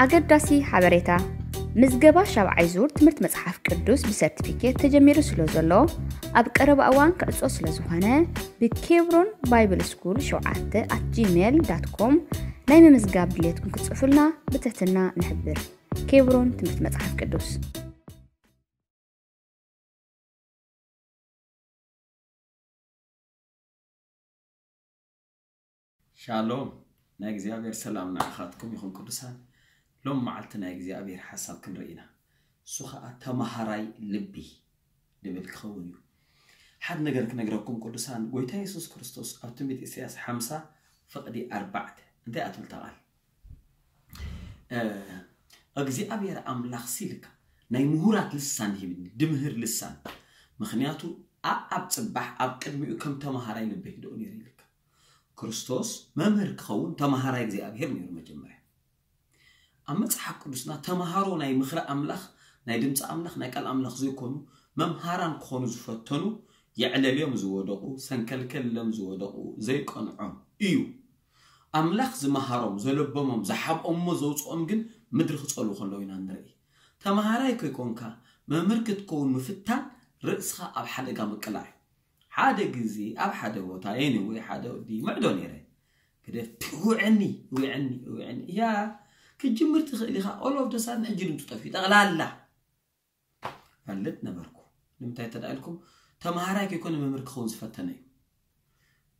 ኣገዳሲ ሓበሬታ፣ ምዝገባ ሻብዓይ ዙር ትምህርቲ መጽሓፍ ቅዱስ ብሰርቲፊኬት ተጀሚሩ ስለ ዘሎ፣ ኣብ ቀረባ እዋን ክዕጾ ስለ ዝኾነ፣ ብኬብሮን ባይብል ስኩል ሸውዓተ ኣት ጂሜል ዳት ኮም ናይ ምምዝጋብ ድሌትኩም ክትጽፉልና ብትሕትና ንሕብር። ኬብሮን ትምህርቲ መጽሓፍ ቅዱስ። ሻሎም፣ ናይ እግዚኣብሔር ሰላም ንዓኻትኩም ይኹን ቅዱሳን። ሎም መዓልቲ ናይ እግዚኣብሔር ሓሳብ ክንርኢ ኢና። እሱ ኸዓ ተማሃራይ ልቢ ድብል ክኸውን እዩ። ሓደ ነገር ክነግረኩም ቅዱሳን፣ ጎይታ የሱስ ክርስቶስ ኣብ ትንቢት ኢሳያስ ሓምሳ ፍቕዲ ኣርባዕተ እንታይ ኣትብል ተቓል እግዚኣብሔር ኣምላኽ ሲልካ ናይ ምሁራት ልሳን ሂብኒ፣ ድምህር ልሳን። ምኽንያቱ ኣኣብ ጽባሕ ኣብ ቅድሚኡ ከም ተማሃራይ ልበይ ህድኦ ነይሩ ኢልካ። ክርስቶስ መምህር ክኸውን ተማሃራይ እግዚኣብሔር ነይሩ መጀመርያ። ኣብ መጽሓፍ ቅዱስና ተምሃሮ ናይ ምኽሪ ኣምላኽ፣ ናይ ድምፂ ኣምላኽ፣ ናይ ቃል ኣምላኽ ዘይኮኑ መምሃራን ክኾኑ ዝፈተኑ፣ የዕለልዮም ዝወደቑ፣ ሰንከልከልሎም ዝወደቑ፣ ዘይቀንዖም እዩ። ኣምላኽ ዝመሃሮም፣ ዘለበሞም፣ ዝሓብኦሞ፣ ዘውፅኦም ግን ምድሪ ክፀልዉ ከለዉ ኢና ንርኢ። ተምሃራይ ከይኮንካ መምህር ክትከውን ምፍታን ርእስኻ ኣብ ሓደጋ ምቅላዕ እዩ። ሓደ ግዜ ኣብ ሓደ ቦታ የኒ ወይ ሓደ ወዲ ምዕዶ ነይረ። ግደፍ፣ ውዕኒ ውዕኒ ውዕኒ እያ። ክትጅምር ትኽእል ኢኻ። ኦሎፍ ደሳን ሕጂ ድምፁ ጠፊኡ ጠቕላላ ፈልጥ ነበርኩ። ንምንታይ ተዳ ኢልኩም? ተምሃራይ ከይኮነ መምህር ክኸውን ዝፈተነ እዩ።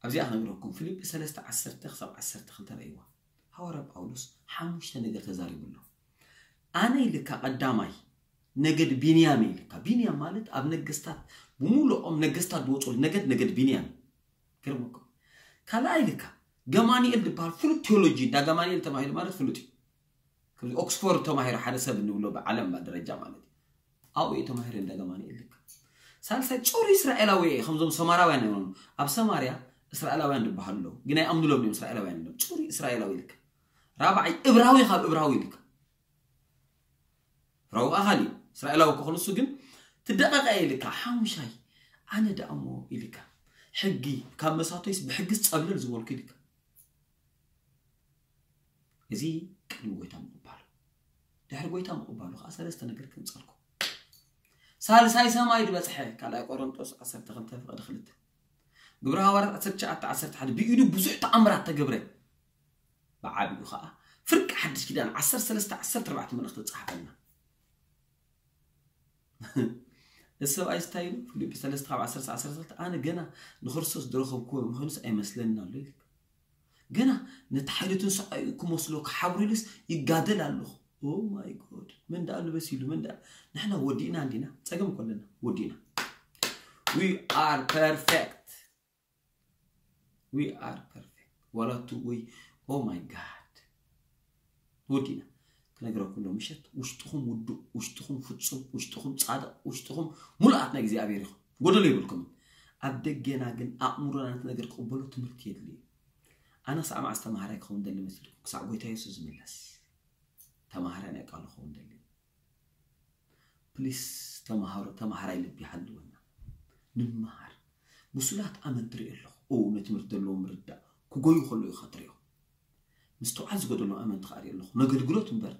ኣብዚኣ ክነግረኩም፣ ፊልጲ ሰለስተ ዓሰርተ ክሳብ ዓሰርተ ክልተ ረእይዋ። ሃዋርያ ጳውሎስ ሓሙሽተ ነገር ተዛሪቡ ኣሎ። ኣነ ኢልካ ቀዳማይ ነገድ ቢንያም ኢልካ። ቢንያም ማለት ኣብ ነገስታት ብምሉኦም ነገስታት ዝወፅሉ ነገድ፣ ነገድ ቢንያም። ገርመኩም። ካልኣይ ኢልካ ገማንኤል ዝበሃል ፍሉጥ ቴዎሎጂ፣ እንዳ ገማንኤል ተማሂሩ ማለት ፍሉጥ እዩ። ከምዚ ኦክስፎርድ ተማሂሩ ሓደ ሰብ እንብሎ ብዓለም ደረጃ ማለት እዩ። ኣብኡ እዩ ተማሂሩ እንዳ ገማንኤል ኢልካ። ሳልሳይ ጹር እስራኤላዊ እየ፣ ከምዞም ሰማራውያን እዮም። ኣብ ሰማርያ እስራኤላውያን ዝበሃሉ ኣለዉ፣ ግን ኣይኣምኑሎም እዮም እስራኤላውያን እዮም። ጹር እስራኤላዊ ኢልካ። ራብዓይ እብራዊ ካብ እብራዊ ኢልካ። ራው ኣኻሊ እስራኤላዊ ክኾን እሱ ግን ትደቐቐ ኢልካ። ሓሙሻይ ኣነ ደኣሞ ኢልካ። ሕጊ ካብ መሳቶይስ ብሕጊስ ጸብለል ዝበልኩ ኢልካ። እዚ ቅድሚ ጎይታ ምቕባሉ። ድሕሪ ጎይታ ምቕባሉ ከዓ ሰለስተ ነገር ከምፀልኩ። ሳልሳይ ሰማይ ዝበፅሐ ካልኣይ ቆሮንጦስ ዓሰርተ ክልተ ፍቕዲ ክልተ። ግብረ ሃዋርያት ዓሰርተ ትሽዓተ ዓሰርተ ሓደ ብኢዱ ብዙሕ ተኣምራት ተገብረ። ብዓቢኡ ከዓ ፍርቂ ሓድሽ ኪዳን ዓሰርተ ሰለስተ ዓሰርተ ኣርባዕተ መልእኽቲ ዝፀሓፈልና። እዚ ሰብኣይ ስታይ ኢሉ ፊልጲ ሰለስተ ካብ ዓሰርተ ዓሰርተ ክልተ ኣነ ገና ንክርስቶስ ዝረኸብክዎ ምዃኑስ ኣይመስለንን ኣሎ ኢሉ። ገና ነቲ ሓይሊ ትንሳኤኡ ክመስሎ ክሓብር ኢሉስ ይጋደል ኣለኹ። Oh my God፣ መን ደኣ ንበስ ኢሉ፣ መን ደኣ ንሕና ወዲእና እንዲና፣ ጸገም እኮ ኣለና፣ ወዲእና። We are perfect። We are perfect። ዋላ እቱ ወይ oh my God፣ ወዲእና። ክነግረኩም ዶ ምሸት ውሽጥኹም ውዱእ፣ ውሽጥኹም ፍጹም፣ ውሽጥኹም ጻድቕ፣ ውሽጥኹም ሙሉኣት ናይ እግዚኣብሔር ኢኹም። ጎደሎ የብልኩምን። ኣብ ደገና ግን ኣእምሮና ነቲ ነገር ክቕበሎ ትምህርቲ የድልዩ። ኣነ ክሳዕ መዓስ ተምሃራይ ክኸውን ደሊ መሲልኩም? ክሳዕ ጎይታ የሱስ ዝምለስ ተምሃራይ ናይ ቃሉ ክኸውን ደሊ። ፕሊስ ተምሃሮ፣ ተምሃራይ ልቢ ይሃልወና። ንመሃር። ብሱላት ኣመንቲ ርኢ ኣለኹ። ኦ፣ ነቲ ትምህርቲ ዘለዎም ምርዳእ ክጎዩ ከለዉ ኢኻ ትሪኦ። ምስትውዓል ዝጎደሎም ኣመንቲ ከዓ ርኢ ኣለኹ። ነገልግሎት እምበር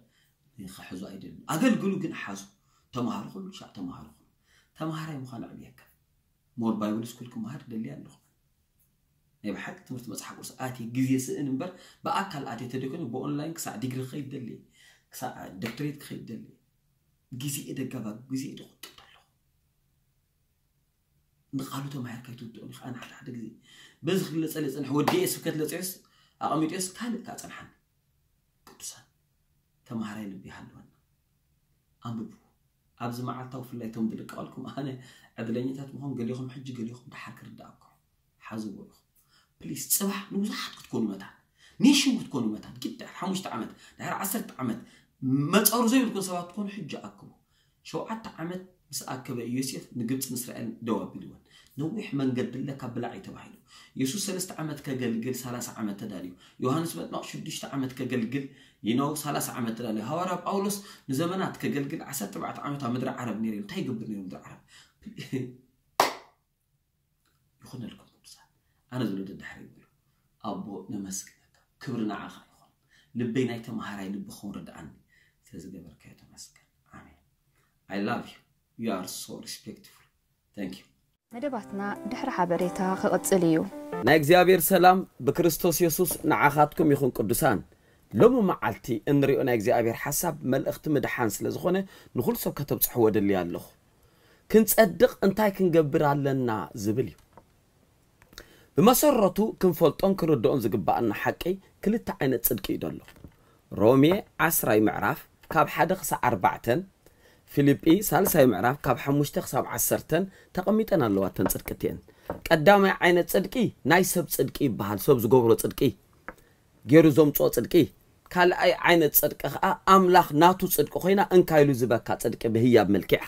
ክሕዙ ኣይደልን። ኣገልግሉ ግን ሓዙ። ተምሃሩ ኩሉ ሻዕ ተምሃሩ ኩሉ። ተምሃራይ ምዃን ኣዕብየካ። ሞር ባይብል ስኩል ክመሃር ደሊ ኣለኹ። ናይ ብሓቂ ትምህርቲ መፅሓፍ ቅዱስ ኣትየ ግዜ ስእን እምበር ብኣካል ኣትየ ተደይኮነ ብኦንላይን ክሳዕ ዲግሪ ክኸይድ ደሊ፣ ክሳዕ ዶክትሬት ክኸይድ ደሊ። ግዜ እየ ደጋባ፣ ግዜ እየ ደቁጥብ ኣለኹ። ንቃሉ ተማሂርካ ኣይትውድኦን ኢኻ። ኣነ ሓደ ሓደ ግዜ በዚ ክግለጸለይ ጸንሐ፣ ወዲኤ ስብከት ለጺዮስ ኣቐሚጦስ ካልእ ከኣ ጸንሓኒ። ቅዱሳን ተማሃራይ ልቢ ይሃልወና። ኣንብቡ። ኣብዚ መዓልታዊ ብፍላይ እቶም ዝልቀቐልኩም ኣነ ዕድለኛታት ምዃን ገሊኹም ሕጂ ገሊኹም ደሓር ክርድኣኩም። ሓዝዎ ኢኹም። ፕሊስ ጽባሕ ንብዙሓት ክትኮኑ መታን። ኔሽን ክትኮኑ መታን። ግድ ድሕሪ ሓሙሽተ ዓመት፣ ድሕሪ ዓሰርተ ዓመት መጸሩ ዘይብልኩም ሰባት ትኮኑ ሕጂ ኣክቡ። ሸውዓተ ዓመት ምስ ኣከበ ዮሴፍ ንግብጽን እስራኤልን ደው ኣቢልወን። ነዊሕ መንገዲ ኣለካ ብላዕ እዩ ተባሂሉ። የሱስ ሰለስተ ዓመት ከገልግል ሰላሳ ዓመት ተዳልዩ። ዮሃንስ መጥምቕ ሽዱሽተ ዓመት ከገልግል you know ሰላሳ ዓመት ተዳልዩ። ሃዋርያ ጳውሎስ ንዘመናት ከገልግል ዓሰርተ ኣርባዕተ ዓመት ኣብ ምድሪ ዓረብ ነይሩ። እንታይ ይገብር ነይሩ ምድሪ ዓረብ? ይኹነልኩም ቅዱሳን። ኣነ ዝብሎ ደድሕሪ ይብሉ። ኣቦ ነመስግነካ። ክብሪ ንዓኻ ይኹን። ልበይ ናይ ተምሃራይ ልቢ ክኸውን ርድኣኒ። ዝገበርካዮ ተመስገን። ኣሜን። I love you. You are so respectful. Thank you. መደባትና ድሕሪ ሓበሬታ ክቕጽል እዩ። ናይ እግዚኣብሔር ሰላም ብክርስቶስ የሱስ ንዓኻትኩም ይኹን ቅዱሳን። ሎሚ መዓልቲ እንሪኦ ናይ እግዚኣብሔር ሓሳብ መልእኽቲ ምድሓን ስለ ዝኾነ ንኹሉ ሰብ ከተብጽሕዎ ደልየ ኣለኹ። ክንጸድቕ እንታይ ክንገብር ኣለና ዝብል እዩ። ብመሰረቱ ክንፈልጦን ክንርድኦን ዝግባኣና ሓቂ ክልተ ዓይነት ጽድቂ እዩ ዘሎ። ሮሜ ዓስራይ ምዕራፍ ካብ ሓደ ክሳዕ ኣርባዕተን ፊልጲ ሳልሳይ ምዕራፍ ካብ ሓሙሽተ ክሳብ ዓሰርተን ተቐሚጠን ኣለዋ እተን ጽድቂ እቲአን። ቀዳማይ ዓይነት ጽድቂ ናይ ሰብ ጽድቂ ይበሃል፣ ሰብ ዝገብሮ ጽድቂ ገይሩ ዘምፅኦ ጽድቂ። ካልኣይ ዓይነት ጽድቂ ከዓ ኣምላኽ ናቱ ጽድቂ ኮይና እንካ ኢሉ ዝበካ ጽድቂ ብህያብ መልክዕ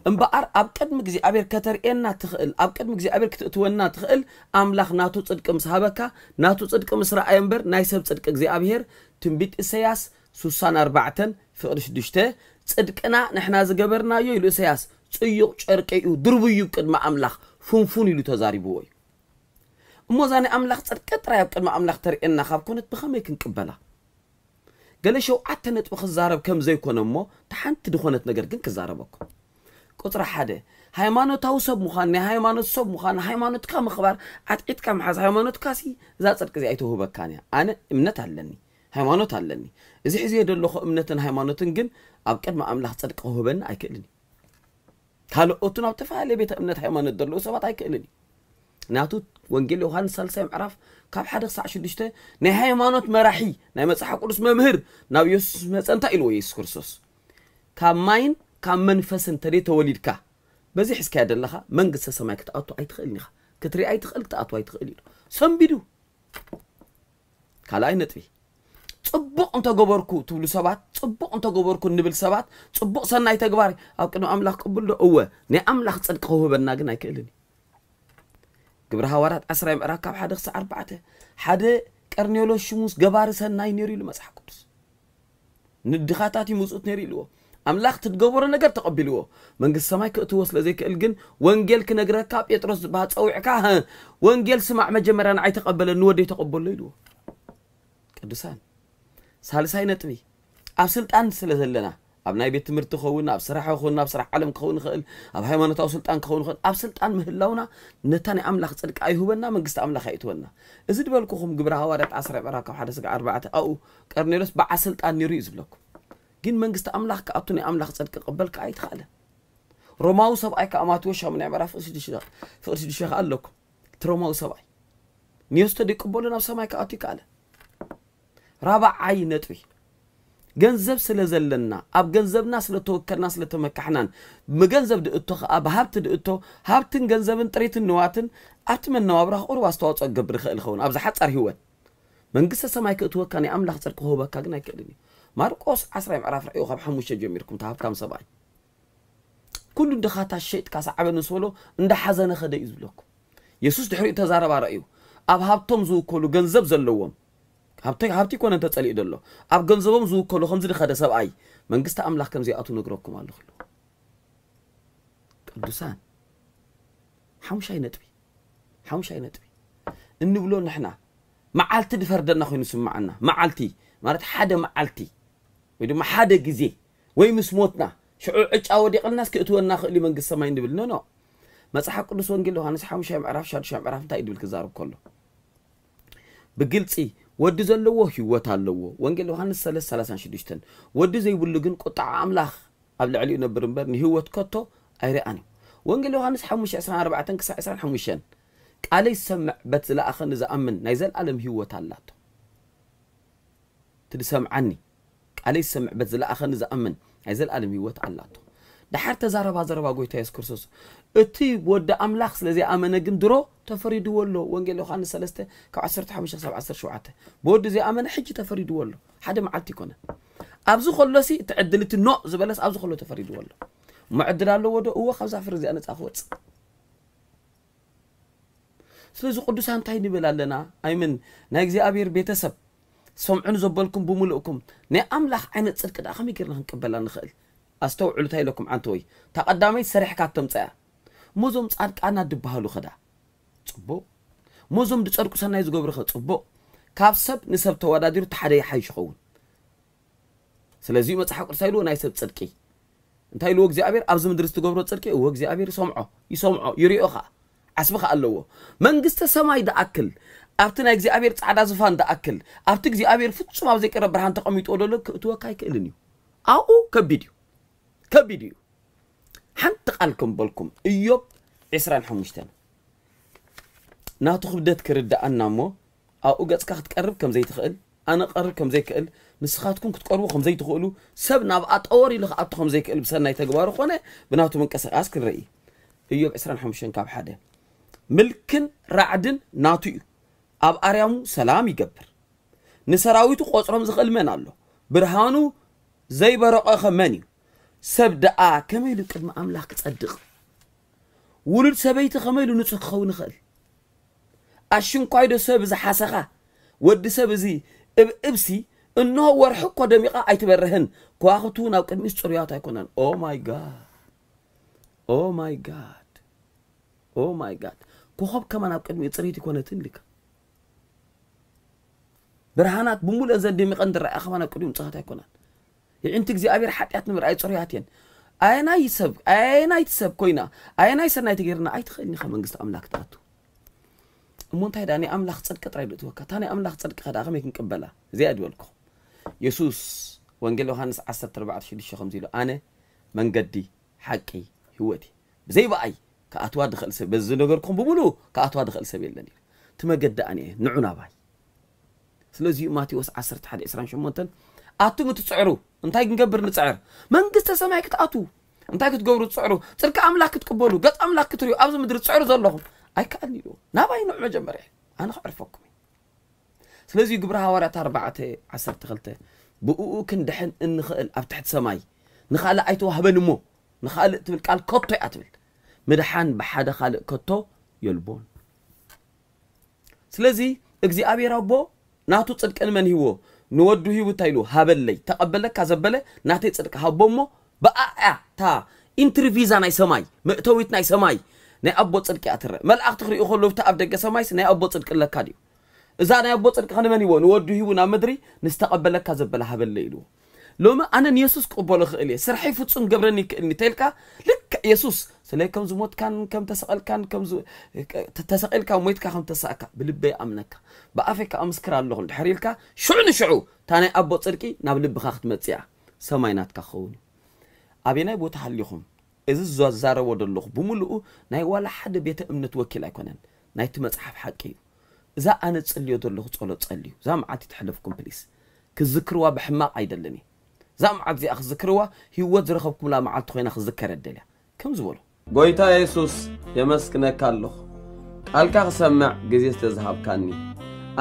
እምበኣር ኣብ ቅድሚ እግዚኣብሔር ከተርእየና ትኽእል፣ ኣብ ቅድሚ እግዚኣብሔር ክትእትወና ትኽእል። ኣምላኽ ናቱ ጽድቂ ምስ ሃበካ ናቱ ጽድቂ ምስ ረኣየ እምበር ናይ ሰብ ጽድቂ እግዚኣብሔር ትንቢት ኢሰያስ ስሳን ኣርባዕተን ፍቕዲ ሽዱሽተ ጽድቅና ንሕና ዝገበርናዮ ኢሉ ኢሰያስ ጽዩቕ ጨርቂ እዩ ድርቡዩ ቅድሚ ኣምላኽ ፍንፉን ኢሉ ተዛሪብዎ እዩ። እሞ እዛ ናይ ኣምላኽ ጽድቂ ጥራይ ኣብ ቅድሚ ኣምላኽ ተርእየና ካብ ኮነት ብኸመይ ክንቅበላ? ገለ ሸውዓተ ነጥቢ ክዛረብ ከም ዘይኮነ እሞ እታ ሓንቲ ዝኾነት ነገር ግን ክዛረበኩም። ቁፅሪ ሓደ፣ ሃይማኖታዊ ሰብ ምዃን፣ ናይ ሃይማኖት ሰብ ምዃን፣ ሃይማኖትካ ምኽባር፣ ዓጥዒጥካ ምሓዝ። ሃይማኖትካ ሲ እዛ ጽድቂ እዚኣ ኣይተውህበካን እያ። ኣነ እምነት ኣለኒ፣ ሃይማኖት ኣለኒ። እዚ ሕዝየ ዘለኹ እምነትን ሃይማኖትን ግን ኣብ ቅድሚ ኣምላኽ ጽድቂ ክውህበኒ ኣይክእልን እዩ። ካልኦቱ ናብ ተፈላለየ ቤተ እምነት ሃይማኖት ዘለዉ ሰባት ኣይክእልን እዩ። ናቱ ወንጌል ዮሃንስ ሳልሳይ ምዕራፍ ካብ ሓደ ክሳዕ ሽዱሽተ ናይ ሃይማኖት መራሒ ናይ መጽሓፍ ቅዱስ መምህር ናብ የሱስ መጸ እንታይ ኢልዎ የሱስ ክርስቶስ? ካብ ማይን ካብ መንፈስን ተደይ ተወሊድካ በዚ ሒዝካያ ዘለኻ መንግስተ ሰማይ ክትኣቱ ኣይትኽእልን ኢኻ። ክትርኢ ኣይትኽእል ክትኣቱ ኣይትኽእል ኢሉ ሰንቢዱ። ካልኣይ ነጥቢ ጽቡቕ እንተገበርኩ ትብሉ ሰባት፣ ጽቡቕ እንተገበርኩ እንብል ሰባት፣ ጽቡቕ ሰናይ ተግባር ኣብ ቅድሚ ኣምላኽ ቅቡል ዶ? እወ፣ ናይ ኣምላኽ ጽድቂ ክውህበና ግን ኣይክእልን እዩ። ግብሪ ሃዋርያት ዓስራይ ምዕራፍ ካብ ሓደ ክሳዕ ኣርባዕተ ሓደ ቀርኔሎስ ሽሙስ ገባሪ ሰናይ ነይሩ ኢሉ መጽሓፍ ቅዱስ። ንድኻታት ይምጽኡት ነይሩ ኢልዎ። ኣምላኽ ትገበሮ ነገር ተቐቢልዎ መንግስቲ ሰማይ ክእትዎ ስለ ዘይክእል ግን ወንጌል ክነግረካ ጴጥሮስ ዝበሃል ጸዊዕካ "ሀ፣ ወንጌል ስማዕ መጀመርያ ንዓይ ተቐበለኒ ወደይ ተቐበሎ" ኢልዎ። ቅዱሳን ሳልሳይ ነጥቢ ኣብ ስልጣን ስለ ዘለና ኣብ ናይ ቤት ትምህርቲ ክኸውን ኣብ ስራሕ ክኸውን ኣብ ስራሕ ዓለም ክኸውን ይኽእል ኣብ ሃይማኖታዊ ስልጣን ክኸውን ይኽእል ኣብ ስልጣን ምህላውና ነታ ናይ ኣምላኽ ጽድቂ ኣይሁበና መንግስቲ ኣምላኽ ኣይእትወና። እዚ ዝበልኩኹም ግብረ ሃዋርያት ዓስራ ምዕራፍ ካብ ሓደ ስጋ ኣርባዕተ ኣብኡ ቀርኔሎስ በዓል ስልጣን ነይሩ እዩ ዝብለኩም። ግን መንግስቲ ኣምላኽ ክኣቱ ናይ ኣምላኽ ጽድቂ ክቕበል ከኣ ኣይተኻእለን። ሮማዊ ሰብኣይ ከኣ ማቴዎስ ሻሙናይ ምዕራፍ ፍቕዲ ሽዱሽተ ከኣ ኣለኩም። እቲ ሮማዊ ሰብኣይ ንየሱስ ተደይቅበሉ ናብ ሰማይ ክኣቱ ይከኣለ። ራብዓይ ነጥቢ ገንዘብ ስለ ዘለና ኣብ ገንዘብና ስለ ተወከልና ስለ ተመካሕናን ብገንዘብ ድእቶ ከኣ ብሃብቲ ድእቶ ሃብትን ገንዘብን ጥሪትን ንዋትን ኣብቲ መነባብራ ቁሩብ ኣስተዋፅኦ ክገብር ይኽእል ይኸውን ኣብዚ ሓፃር ህይወት መንግስተ ሰማይ ክእትወካ ናይ ኣምላኽ ጽድቂ ክህበካ ግን ኣይክእልን እዩ። ማርቆስ ዓስራይ ምዕራፍ ርዕዩ ካብ ሓሙሽተ ጀሚርኩም እቲ ሃብታም ሰብኣይ ኩሉ ድኻታት ሸይጥካ ሰዓበኒ ምስ በሎ እንዳሓዘነ ኸደ እዩ ዝብለኩም። የሱስ ድሕሪኡ ተዛረባ ረእዩ ኣብ ሃብቶም ዝውከሉ ገንዘብ ዘለዎም ሃብቲ ሃብቲ ይኮነ እንተጸሊኡ ዘሎ ኣብ ገንዘቦም ዝውከሉ ከምዚ ድኸደ ሰብኣይ መንግስቲ ኣምላኽ ከም ዘይኣቱ ነግረኩም ኣለኹ ኢሉ። ቅዱሳን ሓሙሻይ ነጥቢ ሓሙሻይ ነጥቢ እንብሎ ንሕና መዓልቲ ድፈርደና ኮይኑ ስምዓና መዓልቲ ማለት ሓደ መዓልቲ ወይ ድማ ሓደ ግዜ ወይ ምስ ሞትና ሽዑ ዕጫ ወዲቕልናስ ክእትወና ክእል እዩ መንግስቲ ሰማይ እንብል ኖ ኖ መፅሓፍ ቅዱስ ወንጌል ዮሃንስ ሓሙሻይ ምዕራፍ ሻዱሻይ ምዕራፍ እንታይ እዩ ድብል ክዛረብ ከሎ ብግልፂ ወዲ ዘለዎ ህይወት ኣለዎ ወንጌል ዮሃንስ ሰለስተ ሰላሳን ሽዱሽተን ወዲ ዘይብሉ ግን ቁጣዓ ኣምላኽ ኣብ ልዕሊኡ ነብር እምበር ንህይወት ከቶ ኣይረኣን እዩ ወንጌል ዮሃንስ ሓሙሽተ ዕስራን ኣርባዕተን ክሳዕ ዕስራን ሓሙሽተን ቃለይ ዝሰምዕ በት ዝለኣኸኒ ዝኣምን ናይ ዘለኣለም ህይወት ኣላቶ ትድሰምዓኒ ቃለይ ዝሰምዕ በት ዝለኣኸኒ ዝኣምን ናይ ዘለኣለም ህይወት ኣላቶ ደሓር ተዛረባ ዘረባ ጎይታ የሱስ ክርስቶስ እቲ ወዲ ኣምላኽ ስለ ዘይኣመነ ግን ድሮ ተፈሪድዎ ኣሎ ወንጌል ዮሃንስ ሰለስተ ካብ ዓሰርተ ሓሙሽተ ክሳብ ዓሰርተ ሸውዓተ ብወዲ ዘይኣመነ ሕጂ ተፈሪድዎ ኣሎ ሓደ መዓልቲ ይኮነ ኣብዚ ከሎሲ እቲ ዕድል እቲ ኖ ዝበለስ ኣብዚ ከሎ ተፈሪድዎ ኣሎ እሞ ዕድል ኣለዎ ዶ እዎ ካብዛ ፍሪ እዚኣ ነፃ ክወፅእ ስለዚ ቅዱሳን እንታይ ንብል ኣለና ኣይምን ናይ እግዚኣብሔር ቤተሰብ ሰምዑን ዘበልኩም ብምልእኩም ናይ ኣምላኽ ዓይነት ፅድቂ ደኣ ከመይ ጌርና ክንቅበላ ንኽእል ኣስተውዕሉ እንታይ ኢለኩም ዓንተወይ እታ ቀዳመይቲ ሰሪሕካ ተምፀያ እሞ እዞም ፃድቃና ድበሃሉ ኸዳ ፅቡቕ እሞ እዞም ድፀድቁ ሰናይ ዝገብሩ ኸ ፅቡቕ ካብ ሰብ ንሰብ ተወዳዲሩ እቲ ሓደ ይሓይሽ ይኸውን ስለዚ መጽሓፍ ቅዱስ ኢልዎ ናይ ሰብ ጽድቂ እንታይ ኢልዎ እግዚኣብሔር ኣብዚ ምድሪ ዝትገብሮ ጽድቂ እዎ እግዚኣብሔር ይሰምዖ ይሰምዖ ይሪኦ ኸዓ ዓስቢ ኸዓ ኣለዎ። መንግስተ ሰማይ ደኣክል ኣብቲ ናይ እግዚኣብሔር ጻዕዳ ዝፋን ደኣክል ኣብቲ እግዚኣብሔር ፍጹም ኣብ ዘይቀረ ብርሃን ተቐሚጥዎ ዘሎ ክእትወካ ኣይክእልን እዩ። ኣብኡ ከቢድ እዩ። ከቢድ እዩ። ሓንቲ ቃል ከም በልኩም እዮብ ዕስራን ሓሙሽተን ናቱ ክብደት ክርዳኣና እሞ ኣብኡ ገጽካ ክትቀርብ ከም ዘይትኽእል ኣነ ቀርብ ከም ዘይክእል ንስኻትኩም ክትቀርቡ ከም ዘይትኽእሉ ሰብ ናብ ኣጠወር ኢሉ ክኣቱ ከም ዘይክእል ብሰናይ ተግባሩ ኮነ ብናቱ ምንቅስቃስ ክንርኢ። እዮብ ዕስራን ሓሙሽተን ካብ ሓደ ምልክን ራዕድን ናቱ እዩ። ኣብ ኣርያሙ ሰላም ይገብር። ንሰራዊቱ ቆጽሮም ዝኽእል መን ኣሎ? ብርሃኑ ዘይበረቐኸ መን እዩ? ሰብ ደኣ ከመይ ኢሉ ቅድሚ ኣምላኽ ክጸድቕ? ውሉድ ሰበይቲ ከመይ ኢሉ ንጹህ ክኸውን ይኽእል? ኣሽንኳይዶ ሰብ ዝሓሰኻ ወዲ ሰብ እዚ እብእብሲ እንሆ ወርሒ እኮ ደሚቓ ኣይትበርህን ከዋኽብቲ እውን ኣብ ቅድሚኡ ጽሩያት ኣይኮነን። Oh my God. Oh my God. Oh my God. ኮኸብ ከማን ኣብ ቅድሚኡ ጽርይቲ ይኮነትን ኢልካ ብርሃናት ብምሉእ ዘን ደሚቐን ዝረኣያ ከማን ኣብ ቅድሚኡ ንጹሃት ኣይኮናን። ይዕንቲ እግዚኣብሔር ሓጢኣት ንምርኣይ ጽሩያት እየን። ኣየናይ ሰብ ኣየናይቲ ሰብ ኮይና ኣየናይ ሰናይ ተገይርና ኣይትኽእልን ኢኻ መንግስቲ ኣምላክ ትኣቱ። እሞ እንታይ ደኣ ናይ ኣምላኽ ጽድቂ ጥራይ ዶ እትወካ እታ ናይ ኣምላኽ ጽድቂ ከ ደኣ ከመይ ክንቅበላ? እዚኣ ድበልኩ። የሱስ ወንጌል ዮሃንስ ዓሰርተ ኣርባዕተ ሽዱሽተ ከምዚ ኢሉ ኣነ መንገዲ ሓቂ ህይወት እየ። ብዘይ ብኣይ ክኣትዋ ድኽእል ሰብ በዚ ነገርኩም ብምሉ ክኣትዋ ድኽእል ሰብ የለን እዩ። እቲ መገዲ ኣነ እየ ንዑ ናባይ። ስለዚ እዩ ማቴዎስ ዓሰርተ ሓደ ዕስራን ሸሞንተን ኣቱም እትጽዕሩ እንታይ ክንገብር ንጽዕር? መንግስተ ሰማይ ክትኣትዉ እንታይ ክትገብሩ ትጽዕሩ? ጽድቂ ኣምላኽ ክትቅበሉ ገጽ ኣምላኽ ክትርእዩ ኣብዚ ምድሪ ትጽዕሩ ዘለኹም ኣይከኣልን ኢሉ ናባይ ንዑ መጀመርያ ኣነ ክዕርፈኩም እዩ። ስለዚ ግብሪ ሃዋርያት ኣርባዕተ ዓሰርተ ክልተ ብእኡ ክንድሕን እንኽእል ኣብ ትሕቲ ሰማይ ንኻልእ ኣይተዋህበን እሞ ንኻልእ ትብል ቃል ከቶ እያ ትብል። ምድሓን ብሓደ ካልእ ከቶ የልቦን። ስለዚ እግዚኣብሔር ኣቦ ናቱ ጽድቂ ንመን ሂዎ? ንወዱ ሂቡ እንታይ ኢሉ ሃበለይ ተቐበለካ ዘበለ ናተይ ጽድቂ ሃቦ እሞ ብኣያ እታ ኢንትሪ ቪዛ ናይ ሰማይ መእተዊት ናይ ሰማይ ናይ ኣቦ ጽድቂ እያ ትረአ። መላእኽቲ ክርእዩ ከለዉ ኣብቲ ኣብ ደገ ሰማይስ ናይ ኣቦ ጽድቂ ኣለካ ድዩ? እዛ ናይ ኣቦ ጽድቂ ከ ንመን ሂዎ? ንወዱ ሂቡ ናብ ምድሪ ንዝተቐበለካ ዘበለ ሃበለይ ኢልዎ። ሎሚ ኣነ ንየሱስ ክቕበሎ ክእል እየ ስርሐይ ፍጹም ገብረኒ ይክእልኒ ተልካ ልክዕ የሱስ ስለይ ከም ዝሞትካን ከም ተሰቐልካን ከም ተሰቒልካ ሞይትካ ከም ተሳእካ ብልበይ ኣምነካ ብኣፈይ ከዓ ምስክር ኣለኹ እንድሕር ኢልካ ሽዑ ንሽዑ እታ ናይ ኣቦ ጽድቂ ናብ ልብኻ ክትመጽእ እያ ሰማይ ናትካ ክኸውን እዩ ኣበናይ ቦታ ሃሊኹም እዚ ዝዛረቦ ዘለኹ ብምልኡ ናይ ዋላ ሓደ ቤተ እምነት ወኪል ኣይኮነን ናይቲ መጽሓፍ ሓቂ እዩ እዛ ኣነ ጽልዮ ዘለኹ ጸሎት ጸልዩ እዛ መዓልቲ ትሕለፍኩም ፕሊስ ክዝክርዋ ብሕማቕ ኣይደልን እየ እዛ መዓልቲ እዚኣ ክዝክርዋ ህይወት ዝረኸብኩምላ መዓልቲ ኮይና ክዝከር እደልያ ከም ዝበሎ ጎይታ የሱስ የመስግነካ ኣለኹ ቃልካ ክሰምዕ ግዜ ስለ ዝሃብካኒ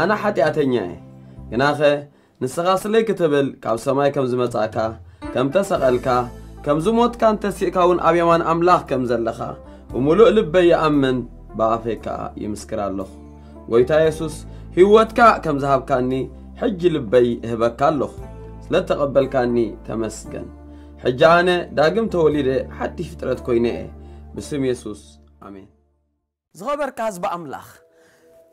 ኣነ ሓጢኣተኛ እየ ግናኸ ንስኻ ስለይ ክትብል ካብ ሰማይ ከም ዝመጻእካ ከም ተሰቐልካ ከም ዝሞትካን ተሲእካ እውን ኣብ የማን ኣምላኽ ከም ዘለኻ ብምሉእ ልበይ ይኣምን ብኣፈይ ከኣ ይምስክር ኣለኹ ጎይታ የሱስ ህይወትካ ከም ዝሃብካኒ ሕጂ ልበይ እህበካ ኣለኹ ስለ ተቐበልካኒ ተመስገን ሕጂ ኣነ ዳግም ተወሊደ ሓድሽ ፍጥረት ኮይነ እየ ብስም የሱስ ኣሜን ዝኸበርካ ህዝቢ ኣምላኽ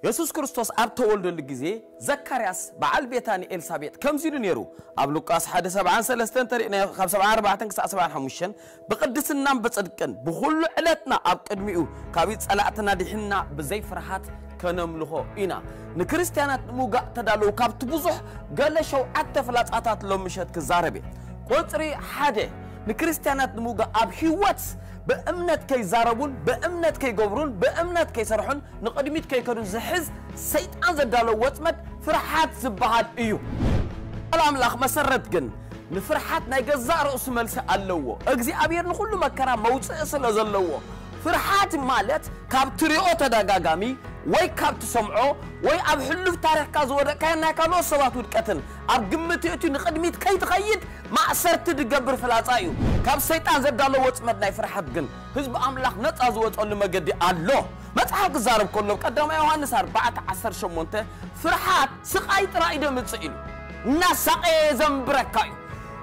የሱስ ክርስቶስ ኣብ ተወልደሉ ግዜ ዘካርያስ በዓል ቤታ ንኤልሳቤጥ ከምዚ ኢሉ ነይሩ ኣብ ሉቃስ ሓደ ሰብዓን ሰለስተን ተሪእናዮ ካብ ሰብዓን ኣርባዕተን ክሳዕ ሰብዓን ሓሙሽተን ብቕድስናን ብጽድቅን ብኹሉ ዕለትና ኣብ ቅድሚኡ ካብ ጸላእትና ድሒንና ብዘይ ፍርሃት ከነምልኾ ኢና ንክርስትያናት ንምውጋእ ተዳለዉ ካብቲ ብዙሕ ገለ ሸውዓተ ፍላጻታት ሎም ምሸት ክዛረብ እየ ቁጽሪ ሓደ ንክርስትያናት ንምውጋእ ኣብ ህይወት ብእምነት ከይዛረቡን ብእምነት ከይገብሩን ብእምነት ከይሰርሑን ንቕድሚት ከይከዱን ዝሕዝ ሰይጣን ዘዳለዎ ወጥመድ ፍርሓት ዝበሃል እዩ። ቃል ኣምላኽ መሰረት ግን ንፍርሓት ናይ ገዛእ ርእሱ መልሲ ኣለዎ። እግዚኣብሔር ንኹሉ መከራ መውፅኢ ስለ ዘለዎ ፍርሓት ማለት ካብ ትሪኦ ተደጋጋሚ ወይ ካብ ትሰምዖ ወይ ኣብ ሕሉፍ ታሪኽካ ዝወደቅካዮ ናይ ካልኦት ሰባት ውድቀትን ኣብ ግምት የእትዩ ንቕድሚት ከይትኸይድ ማእሰርቲ ዝገብር ፍላጻ እዩ። ካብ ሰይጣን ዘዳሎ ወጽመድ ናይ ፍርሓት ግን ህዝቢ ኣምላኽ ነጻ ዝወጸሉ መገዲ ኣሎ። መጽሓፍ ክዛረብ ከሎ ቀዳማይ ዮሃንስ ኣርባዕተ ዓሰርተ ሸሞንተ ፍርሓት ስቓይ ጥራይ ደምጽእ ኢሉ እናሳቐየ ዘንብረካ እዩ።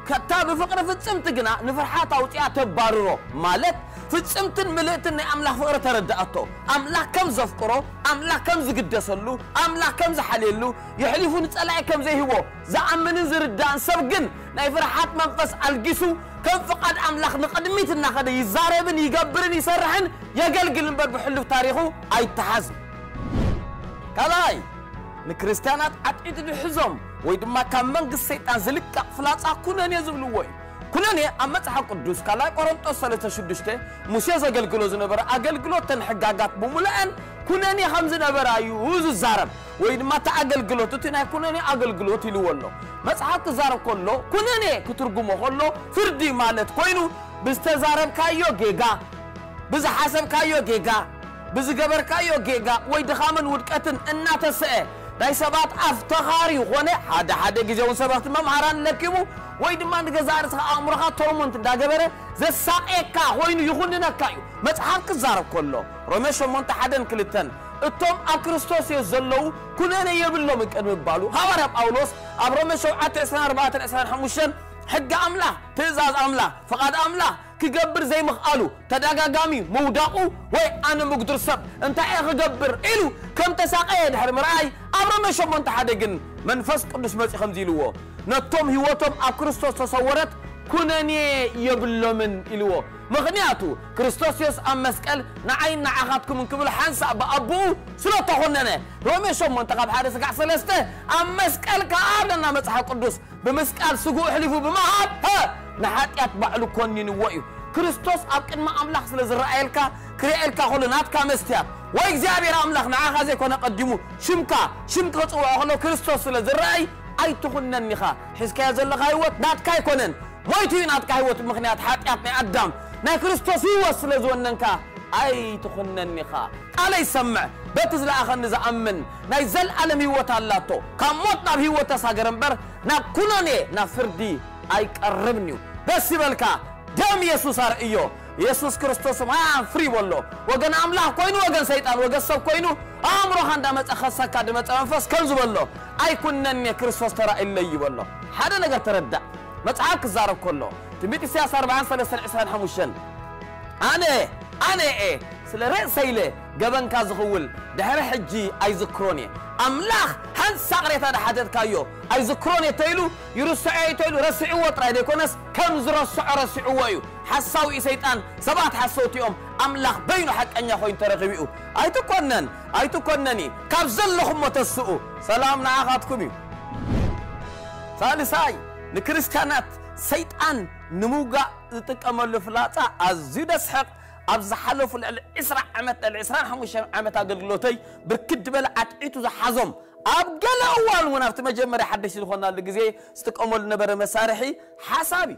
ከታ ብፍቕሪ ፍጽምቲ ግና ንፍርሓት ኣውጺኣ ተባርሮ፣ ማለት ፍጽምትን ምልእትን ናይ ኣምላኽ ፍቕሪ ተረድኣቶ። ኣምላኽ ከም ዘፍቅሮ፣ ኣምላኽ ከም ዝግደሰሉ፣ ኣምላኽ ከም ዝሓልየሉ፣ የሕሊፉ ንጸላኢ ከም ዘይህቦ ዝኣምንን ዝርዳእን ሰብ ግን ናይ ፍርሓት መንፈስ ኣልጊሱ ከም ፍቓድ ኣምላኽ ንቕድሚት እናኸደ ይዛረብን ይገብርን ይሰርሕን የገልግል እምበር ብሕሉፍ ታሪኹ ኣይተሓዝን። ካልኣይ፣ ንክርስትያናት ዓጢጡ ዝሕዞም ወይ ድማ ካብ መንግስቲ ሰይጣን ዝልቀቕ ፍላጻ ኩነኔ ዝብልዎ እዩ። ኩነኔ ኣብ መጽሓፍ ቅዱስ ካልኣይ ቆሮንጦስ ሰለስተ ሽዱሽተ ሙሴ ዘገልግሎ ዝነበረ ኣገልግሎት ተን ሕጋጋት ብምሉአን ኩነኔ ከም ዝነበራ እዩ ዝዛረብ። ወይ ድማ እቲ ኣገልግሎት እቲ ናይ ኩነኔ ኣገልግሎት ኢልዎ ኣሎ። መጽሓፍ ክዛረብ ከሎ ኩነኔ ክትርጉሞ ከሎ ፍርዲ ማለት ኮይኑ ብዝተዛረብካዮ ጌጋ፣ ብዝሓሰብካዮ ጌጋ፣ ብዝገበርካዮ ጌጋ ወይ ድኻምን ውድቀትን እናተሰአ ናይ ሰባት ኣፍ ተኻሪ ኾነ ሓደ ሓደ ግዜ እውን ሰበኽቲ መምሃራን ለኪሙ ወይ ድማ ንገዛእ ርእስኻ ኣእምሮኻ ቶርሞንት እንዳገበረ ዘሳቕየካ ኮይኑ ይኹንነካ እዩ። መጽሓፍ ክዛረብ ከሎ ሮሜ ሸሞንተ ሓደን ክልተን እቶም ኣብ ክርስቶስ እዮም ዘለዉ ኩነኔ የብሎም ቅድሚ ምባሉ ሃዋርያ ጳውሎስ ኣብ ሮሜ ሸውዓተ ዕስራን ኣርባዕተን ዕስራን ሓሙሽተን ሕጊ ኣምላኽ ትእዛዝ ኣምላኽ ፍቓድ ኣምላኽ ክገብር ዘይምኽኣሉ ተደጋጋሚ ምውዳቑ ወይ ኣነ ምጉድር ሰብ እንታይ እየ ክገብር ኢሉ ከም ተሳቐየ ድሕሪ ምርኣይ ኣብ ሮሜ ሸሞንተ ሓደ ግን መንፈስ ቅዱስ መጺኡ ከምዚ ኢልዎ ነቶም ህይወቶም ኣብ ክርስቶስ ተሰወረት ኩነኔ የብሎምን ኢልዎ። ምኽንያቱ ክርስቶስ የሱስ ኣብ መስቀል ንዓይን ንዓኻትኩምን ክብል ሓንሳእ ብኣቦኡ ስለ ተኾነነ። ሮሜ ሸሞንተ ካብ ሓደ ስጋዕ ሰለስተ ኣብ መስቀል ከኣ ኣለና መጽሓፍ ቅዱስ ብምስቃል ስግኡ ኣሕሊፉ ብምሃብ ንሓጢኣት ባዕሉ ኮኒንዎ እዩ። ክርስቶስ ኣብ ቅድሚ ኣምላኽ ስለ ዝረኣየልካ ክርእየልካ ከሎ ናትካ መስትያት ወይ እግዚኣብሔር ኣምላኽ ንዓኻ ዘይኮነ ቀዲሙ ሽምካ ሽም ክጽውዖ ከሎ ክርስቶስ ስለ ዝረኣይ ኣይትኹነን ኢኻ። ሒዝካዮ ዘለኻ ህይወት ናትካ ኣይኮነን። ሞይቱ እዩ ናትካ ህይወት ምኽንያት ሓጢኣት ናይ ኣዳም ናይ ክርስቶስ ህይወት ስለ ዝወነንካ ኣይትኹነን ኢኻ። ቃለይ ሰምዕ በቲ ዝለኣኸኒ ዝኣምን ናይ ዘለኣለም ህይወት ኣላቶ። ካብ ሞት ናብ ህይወት ተሳገረ እምበር ናብ ኩነኔ ናብ ፍርዲ ኣይቀርብን እዩ። ደስ ይበልካ ደም የሱስ ኣርእዮ። የሱስ ክርስቶስ ማያን ፍሪ በሎ። ወገን ኣምላኽ ኮይኑ ወገን ሰይጣን ወገን ሰብ ኮይኑ ኣእምሮኻ እንዳመፀ ከሰካ ድመፀ መንፈስ ከም ዝበሎ ኣይኩነን እየ ክርስቶስ ተራእይለይ ይበሎ። ሓደ ነገር ተረዳእ። መጽሓፍ ክዛረብ ከሎ ትንቢት ኢሳያስ ኣርባዓን ሰለስተን ዕስራን ሓሙሽተን ኣነ ኣነ እየ ስለ ርእሰይ ኢለ ገበንካ ዝኽውል ድሕሪ ሕጂ ኣይዝክሮን እየ። ኣምላኽ ሓንሳ ቅሬታ ድሓተትካዮ ኣይዝክሮን እየ ተይሉ ይርስዖ እዩ ተይሉ ረሲዕዎ ጥራይ ዘይኮነስ ከም ዝረስዖ ረሲዕዎ እዩ። ሓሳዊ እዩ ሰይጣን። ሰባት ሓሰውቲ እዮም። ኣምላኽ በይኑ ሓቀኛ ኮይኑ ተረኺቡ እዩ። ኣይትኮነን ኣይትኮነኒ ካብ ዘለኹሞ ተስኡ ሰላም ንዓኻትኩም እዩ። ሳልሳይ ንክርስትያናት ሰይጣን ንምውጋእ ዝጥቀመሉ ፍላጻ ኣዝዩ ደስሕቕ። ኣብ ዝሓለፉ ልዕሊ ዕስራ ዓመት ልዕሊ ዕስራን ሓሙሽተን ዓመት ኣገልግሎተይ ብርክት ዝበለ ኣትዒቱ ዝሓዞም ኣብ ገለ እዋን እውን ኣብቲ መጀመርያ ሓደሽቲ ዝኾናሉ ግዜ ዝጥቀመሉ ነበረ መሳርሒ ሓሳብ እዩ።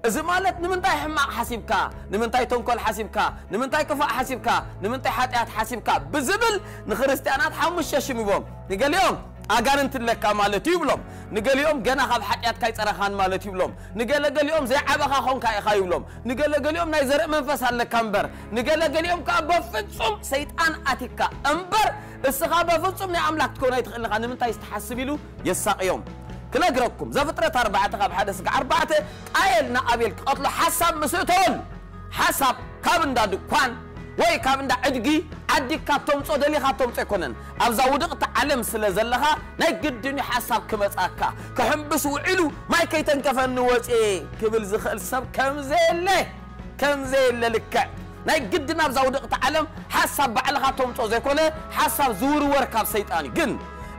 እዚ ማለት ንምንታይ ሕማቕ ሓሲብካ፣ ንምንታይ ተንኮል ሓሲብካ፣ ንምንታይ ክፋእ ሓሲብካ፣ ንምንታይ ሓጢኣት ሓሲብካ ብዝብል ንክርስትያናት ሓሙሽተ ሽም ይቦም። ንገሊኦም ኣጋንንቲ ኣለካ ማለት እዩ ይብሎም። ንገሊኦም ገና ካብ ሓጢኣትካ ኣይጸረኻን ማለት ይብሎም። ንገለ ገሊኦም ዘይዓበኻ ኾንካ ኢኻ ይብሎም። ንገለ ገሊኦም ናይ ዘርኢ መንፈስ ኣለካ እምበር። ንገለ ገሊኦም ከኣ በፍጹም ሰይጣን ኣቲካ እምበር እስኻ በፍጹም ናይ ኣምላኽ ክትከውን ኣይትኽእልን ኢኻ። ንምንታይ ትሓስብ ኢሉ የሳቕዮም። ክነግረኩም ዘፍጥረት ኣርባዕተ ካብ ሓደ ስጋዕ ኣርባዕተ ቃየል ንኣቤል ክቐትሎ ሓሳብ ምስ እተወሉ ሓሳብ ካብ እንዳ ድኳን ወይ ካብ እንዳ ዕድጊ ዓዲግካ ተምጾ ደሊኻ ተምጾ ኣይኮነን። ኣብዛ ውድቕቲ ዓለም ስለ ዘለኻ ናይ ግድን እዩ ሓሳብ ክመጻካ። ክሕምብስ ውዒሉ ማይ ከይተንከፈኒ ወጽየ ክብል ዝኽእል ሰብ ከም ዘየለ ከም ዘየለ ልክዕ ናይ ግድን ኣብዛ ውድቕቲ ዓለም ሓሳብ ባዕልኻ ተምጾ ዘይኮነ ሓሳብ ዝውርወር ካብ ሰይጣን እዩ። ግን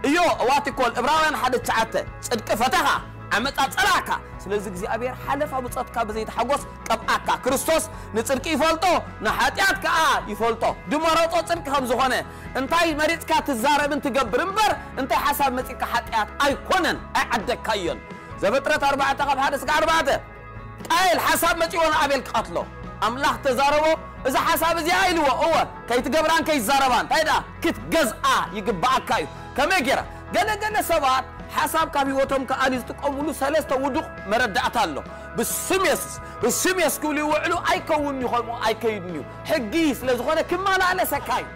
እዮ እዋቲኮል እብራውያን ሓደ ትሽዓተ ጽድቂ ፈተኻ ዓመጻ ጸላእካ። ስለዚ እግዚኣብሔር ሓለፋ ብጾትካ ብዘይተሓጎስ ቀብኣካ። ክርስቶስ ንጽድቂ ይፈልጦ ንሓጢኣት ከኣ ይፈልጦ። ድመረጾ ጽድቂ ከም ዝኾነ እንታይ መሪጽካ ትዛረብን ትገብር እምበር እንታይ ሓሳብ መጺካ ሓጢኣት ኣይኮነን ኣይዓደግካዮን። ዘፍጥረት ኣርባዕተ ካብ ሓደ ስጋዕ ኣርባዕተ ቃየል ሓሳብ መጺዎ ንኣቤል ክቐትሎ ኣምላኽ ተዛረቦ። እዚ ሓሳብ እዚኣ ኢልዎ እወ ከይትገብራን ከይትዛረባን እንታይ ደኣ ክትገዝኣ ይግብኣካ እዩ። ከመይ ገይራ ገለ ገለ ሰባት ሓሳብ ካብ ህይወቶም ክኣሊ ዝጥቀምሉ ሰለስተ ውዱቕ መረዳእታ ኣሎ። ብስም የሱስ ብስም የሱስ ክብሉ ይውዕሉ ኣይከውን እዩ ከምኡ ኣይከይድን እዩ። ሕጊ ስለ ዝኾነ ክመላለሰካ እዩ።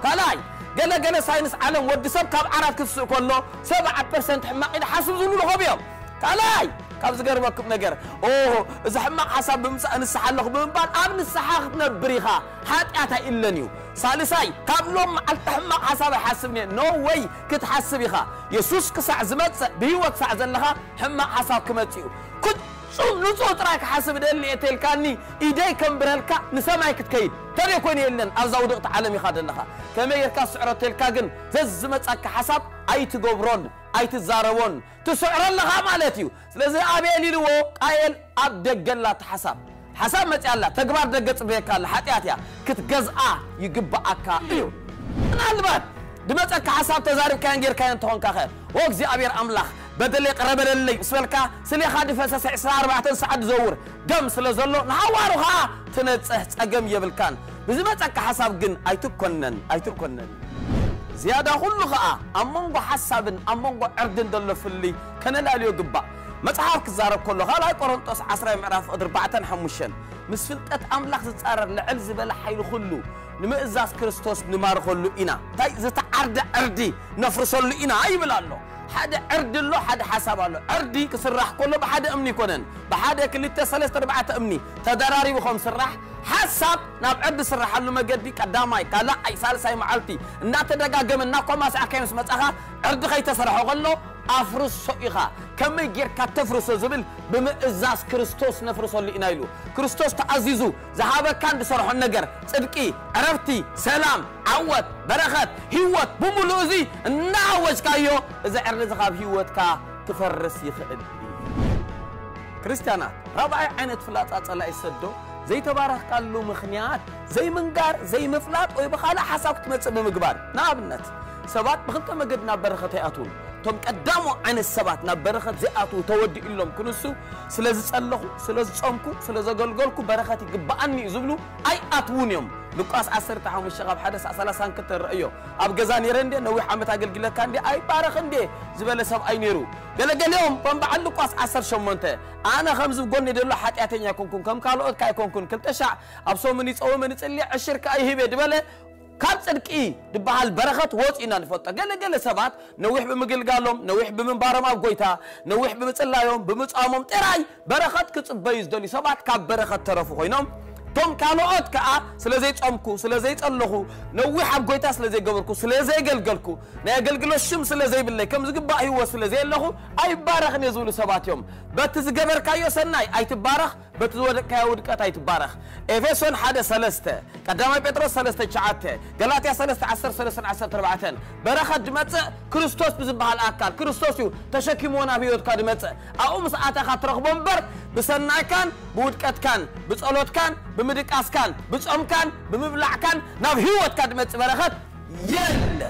ካልኣይ ገለ ገለ ሳይንስ ዓለም ወዲ ሰብ ካብ ዓራት ክትስእ ከሎ ሰብዓ ፐርሰንት ሕማቕ ኢሉ ሓስብ ዝብሉ ኾብ እዮም። ካልኣይ፣ ካብ ዝገርመኩም ነገር፣ ኦ፣ እዚ ሕማቕ ሓሳብ ብምጻእ ንስሓ ኣለኹ ብምባል ኣብ ንስሓ ክትነብር ኢኻ። ሓጢኣት ኣይእለን እዩ። ሳልሳይ፣ ካብ ሎም መዓልቲ ሕማቕ ሓሳብ ኣይሓስብን እየ። ኖ ወይ፣ ክትሓስብ ኢኻ። የሱስ ክሳዕ ዝመጽእ፣ ብህይወት ክሳዕ ዘለኻ ሕማቕ ሓሳብ ክመጽእ እዩ። ፍጹም ንጹህ ጥራይ ክሓስብ ደሊ እየ ተልካኒ፣ ኢደይ ከንብረልካ ንሰማይ ክትከይድ። ተደይ ኮይኑ የለን፣ ኣብዛ ውድቕቲ ዓለም ኢኻ ዘለኻ። ከመይ ጌርካ ስዕሮ ተልካ ግን ዘዝመጻካ ሓሳብ ኣይትገብሮን ኣይትዛረቦን ትስዕሮ ኣለኻ ማለት እዩ። ስለዚ ኣቤል ኢልዎ ቃየል ኣብ ደገ ኣላ እቲ ሓሳብ። ሓሳብ መጽያ ኣላ፣ ተግባር ደገ ጽበየካ ኣላ፣ ሓጢኣት እያ፣ ክትገዝኣ ይግብኣካ እዩ። ምናልባት ድመጸካ ሓሳብ ተዛሪብካዮን ጌርካዮን እንተኾንካ ኸ፣ "ኦ እግዚኣብሔር ኣምላኽ፣ በደለይ ቅረ በለለይ" ምስ በልካ፣ ስሌኻ ድፈሰሰ ዕስራ ኣርባዕተ ሰዓት ዝዘውር ደም ስለ ዘሎ፣ ንሃዋሩ ኸኣ ትነጽህ ጸገም የብልካን። ብዝመጸካ ሓሳብ ግን ኣይትኮነን፣ ኣይትኮነን። ዝያዳ ኩሉ ኸኣ ኣብ መንጎ ሓሳብን ኣብ መንጎ ዕርድን ዘሎ ፍልይ ከነላልዮ ግባእ። መጽሓፍ ክዛረብ ከሎ፣ ካልኣይ ቆሮንጦስ ዓስራይ ምዕራፍ ቁጽሪ ኣርባዕተን ሓሙሽተን፣ ምስ ፍልጠት ኣምላኽ ዝጻረር ልዕል ዝበለ ሓይሊ ኩሉ ንምእዛዝ ክርስቶስ ንማርኸሉ ኢና። እንታይ ዝተዓርደ ዕርዲ ነፍርሰሉ ኢና ይብል ኣሎ። ሓደ ዕርዲ ኣሎ፣ ሓደ ሓሳብ ኣሎ። ዕርዲ ክስራሕ ከሎ ብሓደ እምኒ ይኮነን፣ ብሓደ ክልተ ሰለስተ ኣርባዕተ እምኒ ተደራሪቡ ከም ስራሕ፣ ሓሳብ ናብ ዕርዲ ስራሓሉ መገዲ ቀዳማይ፣ ካልኣይ፣ ሳልሳይ መዓልቲ እናተደጋገመ እናኮማሳዕካዮ ምስ መጻኻ፣ ዕርዲ ከይተሰርሐ ከሎ ኣፍርሶ ኢኻ። ከመይ ጌርካ ተፍርሶ ዝብል ብምእዛዝ ክርስቶስ ነፍርሰሉ ኢና ኢሉ። ክርስቶስ ተኣዚዙ ዝሃበካን ዝሰርሖን ነገር፣ ጽድቂ፣ ዕረፍቲ፣ ሰላም፣ ዓወት፣ በረኸት፣ ህይወት ብምሉእ እዚ እናኣወጅካዮ፣ እዚ ዕርዲ እዚ ካብ ህይወትካ ክፈርስ ይኽእል እዩ። ክርስትያናት፣ ራብዓይ ዓይነት ፍላጻ ጸላኢ ሰዶ፣ ዘይተባረኽካሉ ምኽንያት ዘይምንጋር፣ ዘይምፍላጥ ወይ ብኻልእ ሓሳብ ክትመጽእ ብምግባር። ንኣብነት፣ ሰባት ብኽልተ መገዲ ናብ በረኸት ኣይኣትዉን። እቶም ቀዳሞ ዓይነት ሰባት ናብ በረኸት ዘይኣትዉ ተወዲኡሎም ክንሱ፣ ስለ ዝጸለኹ፣ ስለ ዝጾምኩ፣ ስለ ዘገልገልኩ በረኸት ይግብኣኒ እዩ ዝብሉ ኣይኣትዉን እዮም። ሉቃስ ዓሰርተ ሓሙሽተ ካብ ሓደ ሳዕ ሰላሳ ክልተ ንርእዮ። ኣብ ገዛ ነይረ እንዴ፣ ነዊሕ ዓመት ኣገልግለካ እንዴ፣ ኣይባረኽ እንዴ ዝበለ ሰብኣይ ነይሩ። ገለገሊኦም ከም በዓል ሉቃስ ዓሰርተ ሸሞንተ፣ ኣነ ከምዚ ጎኒ ዘሎ ሓጢኣተኛ ኣይኮንኩን፣ ከም ካልኦት ከ ኣይኮንኩን፣ ክልተ ሻዕ ኣብ ሰሙን ይጸውም ንጽሊ ዕሽር ከኣ ይህብ እየ ዝበለ፣ ካብ ጽድቂ ዝበሃል በረኸት ወጺኡ ኢና ንፈልጦ። ገለ ገለ ሰባት ነዊሕ ብምግልጋሎም፣ ነዊሕ ብምንባሮም ኣብ ጎይታ፣ ነዊሕ ብምጽላዮም፣ ብምጻሞም ጥራይ በረኸት ክጽበዩ ዝደልዩ ሰባት ካብ በረኸት ተረፉ ኮይኖም፣ እቶም ካልኦት ከኣ ስለ ዘይጸምኩ፣ ስለ ዘይጸለኹ፣ ነዊሕ ኣብ ጎይታ ስለ ዘይገበርኩ፣ ስለ ዘየገልገልኩ፣ ናይ ኣገልግሎት ሽም ስለ ዘይብለይ፣ ከም ዝግባእ ህይወት ስለ ዘየለኹ ኣይባረኽን እየ ዝብሉ ሰባት እዮም። በቲ ዝገበርካዮ ሰናይ ኣይትባረኽ፣ በቲ ዝወደቅካዮ ውድቀት ኣይትባረኽ። ኤፌሶን ሓደ ሰለስተ፣ ቀዳማይ ጴጥሮስ ሰለስተ ትሽዓተ፣ ገላትያ ሰለስተ ዓሰርተ ሰለስተ ዓሰርተ ኣርባዕተ፣ በረኸት ድመጽእ ክርስቶስ ብዝበሃል ኣካል፣ ክርስቶስ እዩ ተሸኪምዎ ናብ ህይወትካ ድመጽእ። ኣብኡ ምስ ኣተኻ ትረኽቦ እምበር፣ ብሰናይካን ብውድቀትካን፣ ብጸሎትካን ብምድቃስካን፣ ብጾምካን ብምብላዕካን ናብ ህይወትካ ድመጽእ በረኸት የለ።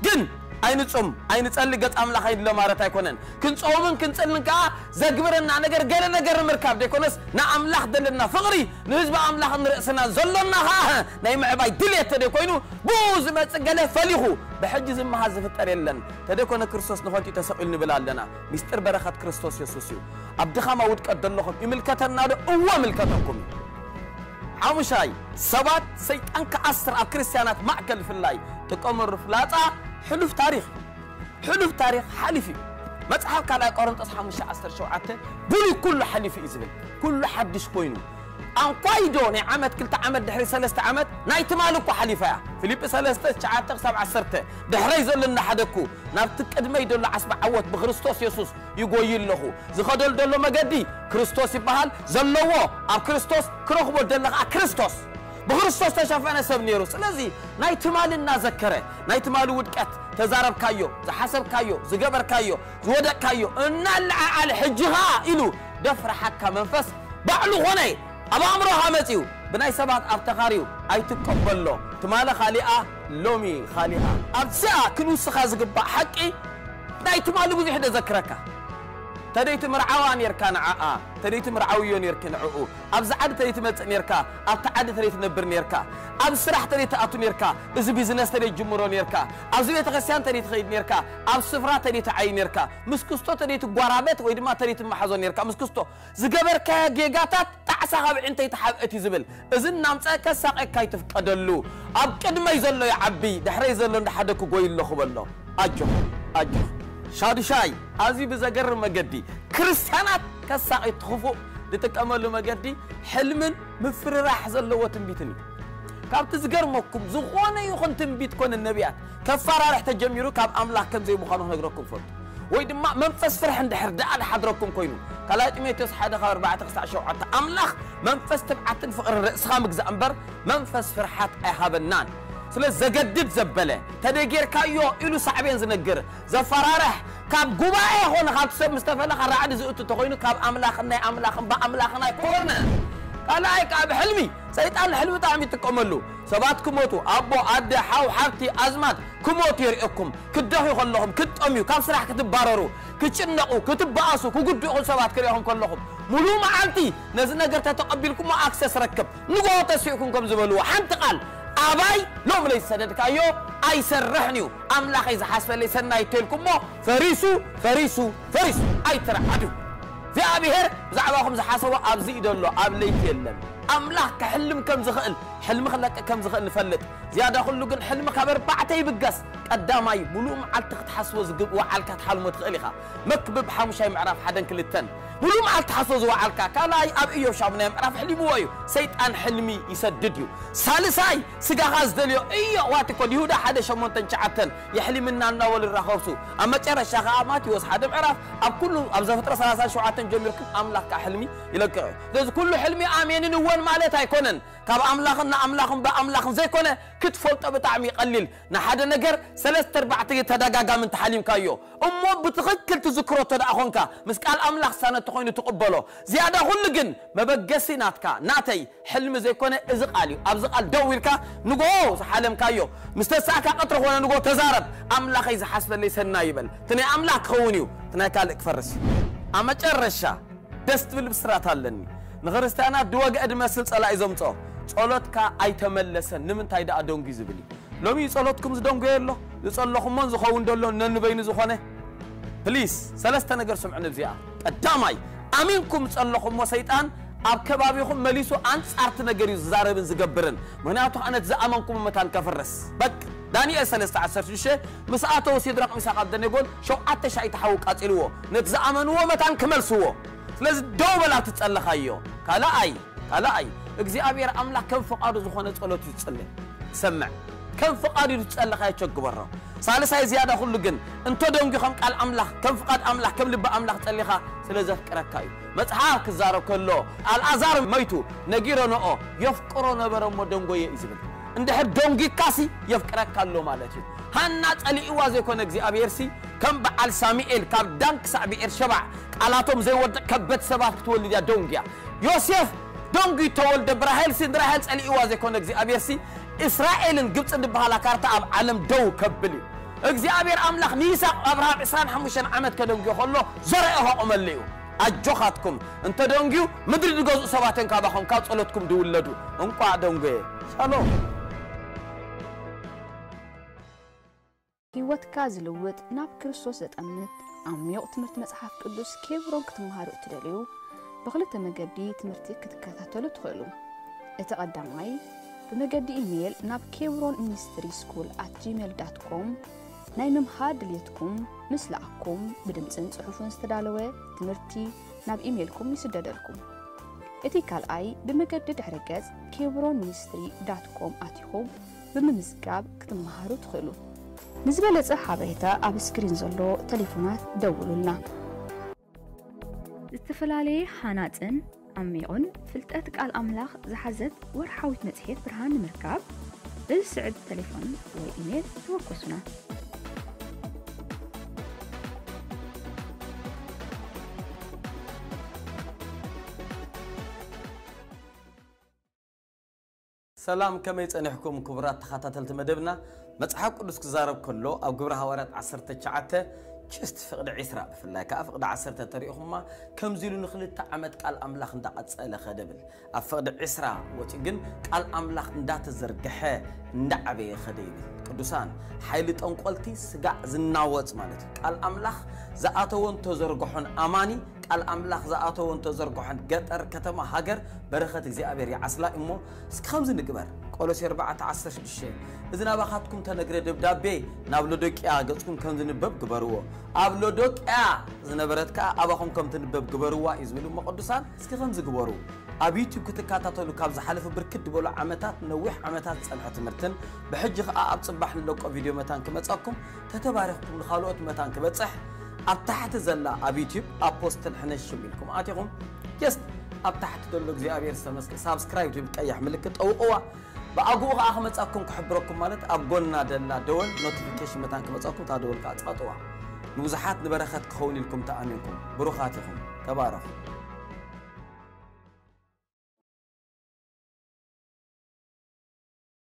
ግን ኣይንጹም፣ ኣይንጸሊ፣ ገጽ ኣምላኽ ኣይንሎ ማለት ኣይኮነን። ክንጸውምን ክንጽልን ከኣ ዘግብረና ነገር ገለ ነገር ንምርካብ ደይኮነስ፣ ንኣምላኽ ዘለና ፍቕሪ፣ ንህዝቢ ኣምላኽ ንርእስና ዘሎና ከኣ ናይ ምዕባይ ድልየት ተደይኮይኑ፣ ብኡ ዝመጽእ ገለ ፈሊኹ ብሕጂ ዝመሃዝ ዝፍጠር የለን። ተደይኮነ ክርስቶስ ንኸንቱ ተሰቒሉ ንብል ኣለና። ሚስጥር በረኸት ክርስቶስ የሱስ እዩ። ኣብ ድኻማ ውድቀት ዘለኹም ይምልከተና ዶ? እወ፣ ይምልከተኩም እዩ። ሓሙሻይ፣ ሰባት ሰይጣን ክኣስር ኣብ ክርስትያናት ማእከል ፍላይ ጥቀመሉ ፍላጻ ሕሉፍ ታሪኽ። ሕሉፍ ታሪኽ ሓሊፉ እዩ። መጽሓፍ ካልኣይ ቆሮንጦስ ሓሙሽተ ዓሰርተ ሸውዓተ፣ ብሉይ ኩሉ ሓሊፉ እዩ ዝብል። ኩሉ ሓድሽ ኮይኑ። ኣንኳይዶ ናይ ዓመት፣ ክልተ ዓመት፣ ድሕሪ ሰለስተ ዓመት ናይ ትማሊ እኮ ሓሊፋ እያ። ፊልጲ ሰለስተ ትሽዓተ ክሳብ ዓሰርተ፣ ድሕረይ ዘሎ እናሓደግኩ ናብቲ ቅድመይ ዘሎ ዓስቢ ዓወት ብክርስቶስ የሱስ ይጎይ ኣለኹ። ዝኸደሉ ዘሎ መገዲ ክርስቶስ ይበሃል። ዘለዎ ኣብ ክርስቶስ፣ ክረኽቦ ደለ ኸዓ ክርስቶስ። ብክርስቶስ ተሸፈነ ሰብ ነይሩ። ስለዚ ናይ ትማሊ እናዘከረ፣ ናይ ትማሊ ውድቀት፣ ተዛረብካዮ፣ ዝሓሰብካዮ፣ ዝገበርካዮ፣ ዝወደቅካዮ እናለዓዓለ፣ ሕጂ ኸዓ ኢሉ ደፍረሓካ መንፈስ ባዕሉ ኾነ ኣብ ኣእምሮኻ መጺኡ፣ ብናይ ሰባት ኣብ ተኻርዩ ኣይትቀበሎ። ትማሊ ካሊኣ፣ ሎሚ ካሊኣ። ኣብዚኣ ክንውስኻ ዝግባእ ሓቂ፣ ናይ ትማሊ ብዙሕ ደዘክረካ። ተደይ ትምርዓዋ ኔርካ ንዓኣ፣ ተደይ ትምርዓውዮ ኔርኪ ንዕኡ። ኣብዚ ዓዲ ተደይ ትመጽእ ኔርካ፣ ኣብቲ ዓዲ ተደይ ትነብር ኔርካ። ኣብ ስራሕ ተደይ ትኣቱ ኔርካ፣ እዚ ቢዝነስ ተደይ ትጅምሮ ኔርካ። ኣብዚ ቤተክርስትያን ተደይ ትኸይድ ኔርካ፣ ኣብ ስፍራ ተደይ ትዓይ ኔርካ። ምስ ክስቶ ተደይ ትጓራበት ወይ ድማ ተደይ ትመሓዞ ኔርካ። ምስ ክስቶ ዝገበርካዮ ጌጋታት ጣዕሳ ካብ ዕንተይ ተሓብእት እዩ ዝብል። እዚ እናምጸ ከሳቐካ ይትፍቀደሉ። ኣብ ቅድመይ ዘሎ ይዓቢ፣ ድሕረይ ዘሎ እንዳሓደግኩ ጎይ ኣለኹ በሎ። ኣጆኽ፣ ኣጆኽ። ሻዱሻይ፣ ኣዝዩ ብዘገርም መገዲ ክርስትያናት ከሳቒ ትኽፉእ ዝጥቀመሉ መገዲ ሕልምን ምፍርራሕ ዘለዎ ትንቢትን እዩ። ካብቲ ዝገርመኩም፣ ዝኾነ ይኹን ትንቢት ኮነ ነቢያት ከፈራርሕ ተጀሚሩ ካብ ኣምላኽ ከም ዘይምዃኑ ክነግረኩም ፈቱ። ወይ ድማ መንፈስ ፍርሒ እንድሕር ደኣ ዝሓድረኩም ኮይኑ፣ ካልኣይ ጢሞቴዎስ ሓደ ካብ ኣርባዕተ ክሳዕ ሸውዓተ፣ ኣምላኽ መንፈስ ትብዓትን ፍቕርን ርእስኻ ምግዛእ እምበር መንፈስ ፍርሓት ኣይሃበናን። ስለ ዘገድድ ዘበለ፣ ተደጌርካዮ ኢሉ ሳዕቤን ዝነግር፣ ዘፈራርሕ፣ ካብ ጉባኤ ኾነ ካብቲ ሰብ ምስ ተፈለኻ ራዕዲ ዝእቱ እንተኾይኑ፣ ካብ ኣምላኽን ናይ ኣምላኽን ብኣምላኽን ኣይኮነን። ካልኣይ ከኣ ብሕልሚ፣ ሰይጣን ንሕልሚ ብጣዕሚ ይጥቀመሉ። ሰባት ክሞቱ፣ ኣቦ፣ ኣደ፣ ሓው፣ ሓብቲ፣ ኣዝማድ ክሞቱ የርእየኩም። ክትደኽዩ ከለኹም፣ ክትጠምዩ፣ ካብ ስራሕ ክትባረሩ፣ ክትጭነቑ፣ ክትበኣሱ፣ ክጉድኡ ሰባት ክርእኹም ከለኹም፣ ሙሉእ መዓልቲ ነዚ ነገር ተተቐቢልኩሞ ኣክሰስ ረክብ። ንግሆ ተሲእኩም ከም ዝበልዎ፣ ሓንቲ ቃል፣ ኣባይ ሎም ለይሰደድካዮ ኣይሰርሕን እዩ። ኣምላኸይ ዝሓስበለይ ሰናይ ተልኩሞ፣ ፈሪሱ፣ ፈሪሱ፣ ፈሪሱ። ኣይትርዓዱ። እግዚኣብሔር ብዛዕባኹም ዝሓሰቦ ኣብዚ እዩ ዘሎ፣ ኣብ ለይቲ የለን። ኣምላኽ ክሕልም ከም ዝኽእል፣ ሕልሚ ክለቅቕ ከም ዝኽእል ንፈልጥ። ዝያዳ ኩሉ ግን ሕልሚ ካብ ኣርባዕተ ይብገስ። ቀዳማይ፣ ሙሉእ መዓልቲ ክትሓስቦ ዝግብ-፣ ወዓልካ ትሓልሞ ትኽእል ኢኻ። መክብብ ሓሙሻይ ምዕራፍ ሓደን ክልተን። ሙሉእ መዓልቲ ሓስቦ ዝወዓልካ፣ ካልኣይ ኣብ ኢዮብ ሻሙናይ ምዕራፍ ኣሕሊምዎ እዩ። ሰይጣን ሕልሚ ይሰድድ እዩ። ሳልሳይ፣ ስጋኻ ዝደልዮ እዮ ዋት እኮ ይሁዳ ሓደ ሸሞንተን ትሽዓተን የሕሊምና እናበሉ ይራኸብሱ። ኣብ መጨረሻ ኸዓ ማቴዎስ ሓደ ምዕራፍ ኣብ ኩሉ ኣብ ዘፍጥረት ሰላሳን ሸውዓተን ጀሚርኩም ኣምላኽ ከኣ ሕልሚ ይለቅቕ እዩ። ስለዚ ኩሉ ሕልሚ ኣሜንን እወን ማለት ኣይኮነን። ካብ ኣምላኽን ንኣምላኽን ብኣምላኽን ዘይኮነ ክትፈልጦ ብጣዕሚ ይቐሊል። ንሓደ ነገር ሰለስተ ኣርባዕተ ተደጋጋሚ እንተሓሊምካዮ እሞ ብትኽክል ትዝክሮ እንተ ደኣ ኾንካ ምስ ቃል ኣምላኽ ዝሳነ እንተኾይኑ ትቕበሎ። ዝያዳ ኩሉ ግን መበገሲ ናትካ ናተይ ሕልሚ ዘይኮነ እዚ ቃል እዩ። ኣብዚ ቃል ደው ኢልካ ንግሆ ዝሓለምካዮ ምስ ተሳእካ ቀትሪ ኾነ ንግሆ ተዛረብ። ኣምላኸይ ዝሓስበለይ ሰናይ ይበል። እቲ ናይ ኣምላኽ ክኸውን እዩ፣ እቲ ናይ ካልእ ክፈርስ እዩ። ኣብ መጨረሻ ደስ ትብል ብስራት ኣለኒ። ንክርስትያናት ድወግአ ድመስል ጸላኢ ዘምጽኦ ጸሎትካ ኣይተመለሰን። ንምንታይ ደኣ ደንጉ ዝብል እዩ። ሎሚ ጸሎትኩም ዝደንጎየ ኣሎ፣ ዝጸለኹሞን ዝኸውን ደሎ ነንበይኑ ዝኾነ። ፕሊስ፣ ሰለስተ ነገር ስምዑ ንብዚኣ። ቀዳማይ፣ ኣሚንኩም ጸለኹሞ ሰይጣን ኣብ ከባቢኹም መሊሱ ኣንጻርቲ ነገር እዩ ዝዛረብን ዝገብርን። ምኽንያቱ ኣነ ዝኣመንኩም መታን ከፍርስ። በቅ፣ ዳንኤል ሰለስተ ዓሰርተ ሽዱሽተ ምስ ኣተው ሲድራቅ ሚሳቅ ኣብደኔጎን ሸውዓተ ሻይ ተሓው ቃጺልዎ። ነቲ ዝኣመንዎ መታን ክመልስዎ። ስለዚ ደው በል ኣብቲ ዝጸለኻዮ። ካልኣይ፣ ካልኣይ፣ እግዚኣብሔር ኣምላኽ ከም ፍቓዱ ዝኾነ ጸሎት እዩ ዝጽሊ። ሰምዕ፣ ከም ፍቓዱ እዩ ዝጸለኻዮ ቸግበሮ። ሳልሳይ ዝያዳ ኩሉ ግን፣ እንተ ደንጉ ከም ቃል ኣምላኽ፣ ከም ፍቓድ ኣምላኽ፣ ከም ልቢ ኣምላኽ ጸሊኻ ስለ ዘፍቅረካ እዩ። መጽሓፍ ክዛረብ ከሎ፣ ኣልኣዛር መይቱ፣ ነጊረንኦ፣ የፍቅሮ ነበረ እሞ ደንጎየ እዩ ዝብል። እንድሕር ደንጒካሲ የፍቅረካ ኣሎ ማለት እዩ። ሃና ጸሊእዋ ዘይኮነ እግዚኣብሔርሲ ከም በዓል ሳሙኤል ካብ ዳን ክሳዕ ብኤርሸባ ቃላቶም ዘይወድቕ ከበድ ሰባት ክትወልድ እያ ደንጉያ። ዮሴፍ ደንጉዩ ተወልደ ብራሄልሲ ንራሄል ጸሊእዋ ዘይኮነ እግዚኣብሔርሲ እስራኤልን ግብጽን ዝበሃላ ካርታ ኣብ ዓለም ደው ከብል እዩ። እግዚኣብሔር ኣምላኽ ንይስሐቅ ኣብርሃም ዕስራን ሓሙሽተን ዓመት ከደንጉዮ ከሎ ዘርአ ከቑመሉ እዩ። ኣጆኻትኩም እንተ ደንጉዩ ምድሪ ዝገዝኡ ሰባት እዮም ካባኹም ካብ ጸሎትኩም ዝውለዱ። እንቋዕ ደንጎየ። ሻሎም። ህይወትካ ዝልውጥ ናብ ክርስቶስ ዘጠምት ዓሚቕ ትምህርቲ መጽሓፍ ቅዱስ ኬብሮን ክትመሃሩ እትደልዩ ብኽልተ መገዲ ትምህርቲ ክትከታተሉ ትኽእሉ። እቲ ቀዳማይ ብመገዲ ኢሜይል ናብ ኬብሮን ሚኒስትሪ ስኩል ኣት ጂሜል ዳት ኮም ናይ ምምሃር ድልየትኩም ምስ ለኣኩም ብድምፅን ፅሑፍን ዝተዳለወ ትምህርቲ ናብ ኢሜይልኩም ይስደደልኩም። እቲ ካልኣይ ብመገዲ ድሕረ ገጽ ኬብሮን ሚኒስትሪ ዳት ኮም ኣቲኹም ብምምዝጋብ ክትመሃሩ ትኽእሉ። ንዝበለጸ ሓበሬታ ኣብ ስክሪን ዘሎ ተሌፎናት ደውሉልና። ዝተፈላለየ ሃናጽን ዓሚቑን ፍልጠት ቃል ኣምላኽ ዝሓዘት ወርሓዊት መጽሔት ብርሃን ንምርካብ በዚ ስዕብ ተሌፎን ወይ ኢሜል ተወከሱና። ሰላም፣ ከመይ ጸኒሕኩም ክቡራት ተኸታተልቲ መደብና? መጽሓፍ ቅዱስ ክዛረብ ከሎ ኣብ ግብረ ሃዋርያት ዓሰርተ ትሽዓተ ችስት ፍቕዲ ዒስራ ብፍላይ ከኣ ፍቕዲ ዓሰርተ ተሪእኹማ ከምዚ ኢሉ ንኽልተ ዓመት ቃል ኣምላኽ እንዳቐጸለ ኸደ ብል ኣብ ፍቕዲ ዒስራ ወጺኡ ግን ቃል ኣምላኽ እንዳተዘርግሐ እንዳዓበየ ኸደ ይብል። ቅዱሳን ሓይሊ ጠንቆልቲ ስጋዕ ዝናወጽ ማለት እዩ። ቃል ኣምላኽ ዝኣተወን ተዘርግሖን ኣማኒ ቃል ኣምላኽ ዝኣተወን ተዘርግሖን ገጠር፣ ከተማ፣ ሃገር በረኸት እግዚኣብሔር ይዓስላ እሞ እስኪ ከምዚ ንግበር። ቆሎሴ ኣርባዕተ ዓሰርተ ሽዱሽተ፣ እዚ ናባኻትኩም ተነግረ ደብዳቤ ናብ ሎዶቅያ ገጽኩም ከም ዝንበብ ግበርዎ። ኣብ ሎዶቅያ ዝነበረት ከኣ ኣባኹም ከም ትንበብ ግበርዋ እዩ ዝብል እሞ ቅዱሳን እስኪ ከምዚ ግበሩ። ኣብ ዩቲዩብ ክትከታተሉ ካብ ዝሓለፉ ብርክት ዝበሉ ዓመታት፣ ነዊሕ ዓመታት ዝጸንሐ ትምህርትን ብሕጂ ከኣ ኣብ ጽባሕ ንለቆ ቪድዮ መታን ክመጻኩም ተተባሪኽኩም ንኻልኦት መታን ክበጽሕ ኣብ ታሕቲ ዘላ ኣብ ዩቲዩብ ኣፖስትል ሕነሽም ኢልኩም ኣቲኹም ጀስት ኣብ ታሕቲ ዘሎ እግዚኣብሔር ዝተመስገ ሳብስክራይብ ትብል ቀያሕ ምልክት ጠውቕዋ። ብኣግኡ ከኣ ክመጻኩም ክሕብረኩም ማለት ኣብ ጎና ደላ ደወል ኖቲፊኬሽን መታን ክመጻኩም እታ ደወል ከኣ ጻጥዋ። ንብዙሓት ንበረኸት ክኸውን ኢልኩም ተኣሚንኩም ብሩኻት ኢኹም። ተባረኹ።